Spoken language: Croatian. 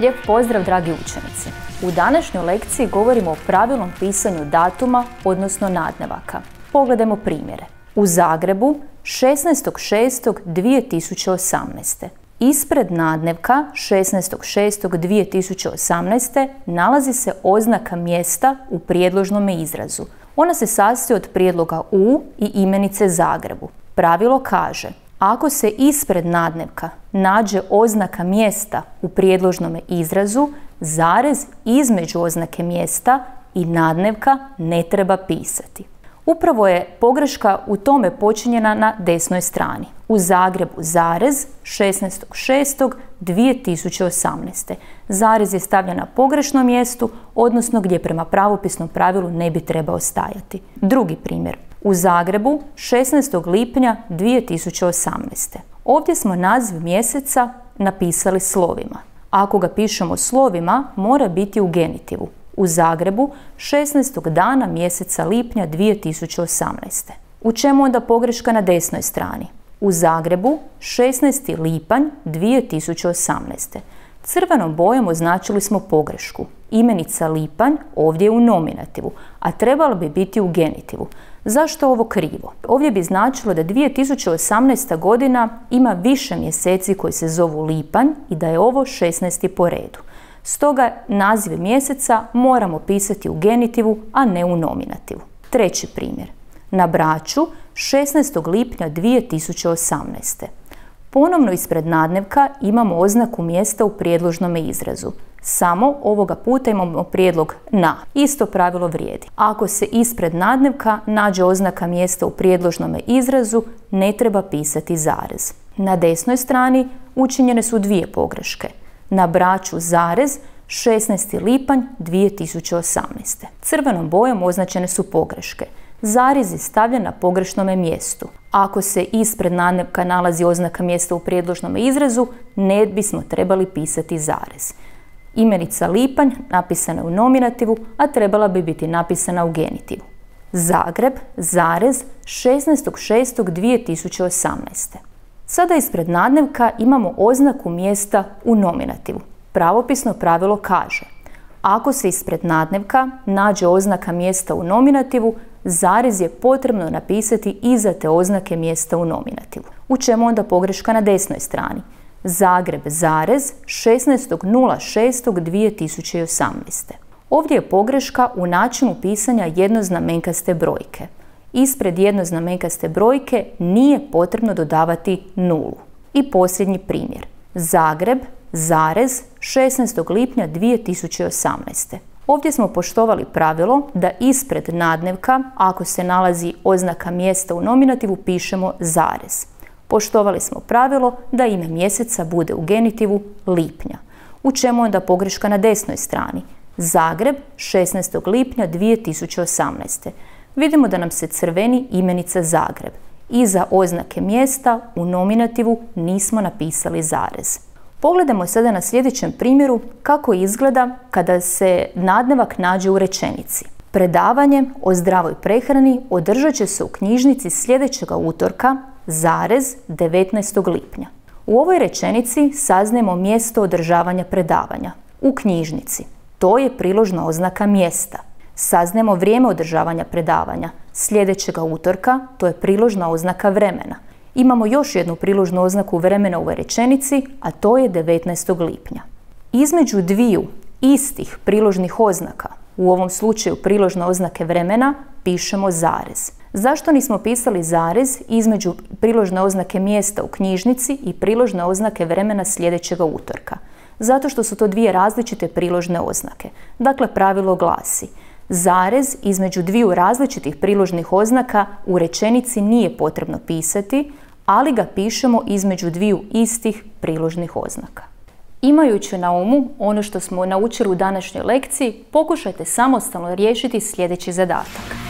Lijep pozdrav, dragi učenici! U današnjoj lekciji govorimo o pravilnom pisanju datuma, odnosno nadnevaka. Pogledajmo primjere. U Zagrebu 16.6.2018. Ispred nadnevka 16.6.2018. nalazi se oznaka mjesta u prijedložnom izrazu. Ona se sastoji od prijedloga U i imenice Zagrebu. Pravilo kaže: ako se ispred nadnevka nađe oznaka mjesta u prijedložnom izrazu, zarez između oznake mjesta i nadnevka ne treba pisati. Upravo je pogreška u tome počinjena na desnoj strani. U Zagrebu zarez 16.6.2018. Zarez je stavljen na pogrešnom mjestu, odnosno gdje prema pravopisnom pravilu ne bi trebao stajati. Drugi primjer. U Zagrebu 16. lipnja 2018. Ovdje smo naziv mjeseca napisali slovima. Ako ga pišemo slovima, mora biti u genitivu. U Zagrebu 16. dana mjeseca lipnja 2018. U čemu onda pogreška na desnoj strani? U Zagrebu 16. lipanj 2018. Crvenom bojom označili smo pogrešku. Imenica lipanj ovdje je u nominativu, a trebalo bi biti u genitivu. Zašto ovo krivo? Ovdje bi značilo da 2018. godina ima više mjeseci koji se zovu lipanj i da je ovo 16. po redu. Stoga naziv mjeseca moramo pisati u genitivu, a ne u nominativu. Treći primjer. Na Braču 16. lipnja 2018. Ponovno ispred nadnevka imamo oznaku mjesta u prijedložnom izrazu. Samo ovoga puta imamo prijedlog na. Isto pravilo vrijedi. Ako se ispred nadnevka nađe oznaka mjesta u prijedložnom izrazu, ne treba pisati zarez. Na desnoj strani učinjene su dvije pogreške. Na Braču zarez 16. lipanj 2018. Crvenom bojom označene su pogreške. Zarez je stavljen na pogrešnome mjestu. Ako se ispred nadnevka nalazi oznaka mjesta u prijedložnom izrazu, ne bismo trebali pisati zarez. Imenica lipanj napisana je u nominativu, a trebala bi biti napisana u genitivu. Zagreb, zarez, 16.6.2018. Sada ispred nadnevka imamo oznaku mjesta u nominativu. Pravopisno pravilo kaže: ako se ispred nadnevka nađe oznaka mjesta u nominativu, zarez je potrebno napisati iza te oznake mjesta u nominativu. U čemu onda pogreška na desnoj strani? Zagreb, zarez, 16.06.2018. Ovdje je pogreška u načinu pisanja jednoznamenkaste brojke. Ispred jednoznamenkaste brojke nije potrebno dodavati nulu. I posljednji primjer. Zagreb, zarez, 16. lipnja 2018. Ovdje smo poštovali pravilo da ispred nadnevka, ako se nalazi oznaka mjesta u nominativu, pišemo zarez. Poštovali smo pravilo da ime mjeseca bude u genitivu lipnja. U čemu onda pogreška na desnoj strani? Zagreb, 16. lipnja 2018. Vidimo da nam se crveni imenica Zagreb. Iza oznake mjesta u nominativu nismo napisali zarez. Pogledajmo sada na sljedećem primjeru kako izgleda kada se nadnevak nađe u rečenici. Predavanje o zdravoj prehrani održat će se u knjižnici sljedećega utorka, zarez, 19. lipnja. U ovoj rečenici saznajemo mjesto održavanja predavanja. U knjižnici. To je priložna oznaka mjesta. Saznajemo vrijeme održavanja predavanja. Sljedećega utorka, to je priložna oznaka vremena. Imamo još jednu priložnu oznaku vremena u ovoj rečenici, a to je 19. lipnja. Između dviju istih priložnih oznaka, u ovom slučaju priložne oznake vremena, pišemo zarez. Zašto nismo pisali zarez između priložne oznake mjesta u knjižnici i priložne oznake vremena sljedećega utorka? Zato što su to dvije različite priložne oznake. Dakle, pravilo glasi: zarez između dviju različitih priložnih oznaka u rečenici nije potrebno pisati, ali ga pišemo između dviju istih priložnih oznaka. Imajući na umu ono što smo naučili u današnjoj lekciji, pokušajte samostalno riješiti sljedeći zadatak.